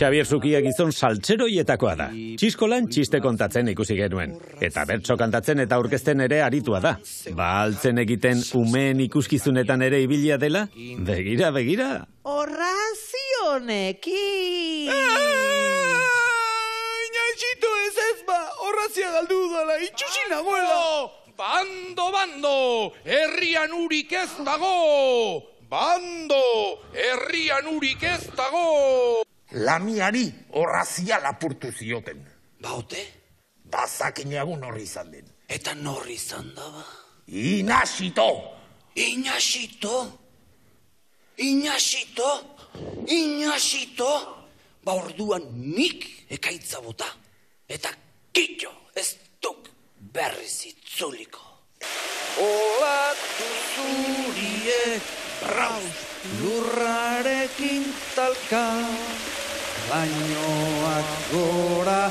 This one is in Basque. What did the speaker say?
Xabier Zukia gizon saltzeroietakoa da. Txiskolan txiste kontatzen ikusi genuen. Eta bertso kantatzen eta aurkezten ere aritua da. Ba altzen egiten umeen ikuskizunetan ere ibilia dela? Begira, begira. Horrazionekin! Inaxito ez ba, horrazia galdu dala, itxusi nagoela! Bando, herrian urik ez dago! Bando, herrian urik ez dago! Lamiari horrazia lapurtu zioten. Baute? Bazakinagun horri izan den. Eta norri izan da ba? Inaxito! Inaxito! Ba orduan nik ekaitza bota. Eta kitxo ez duk berriz itzuliko. Olatu zurie, raus, lurrarekin talka, bainoak gora,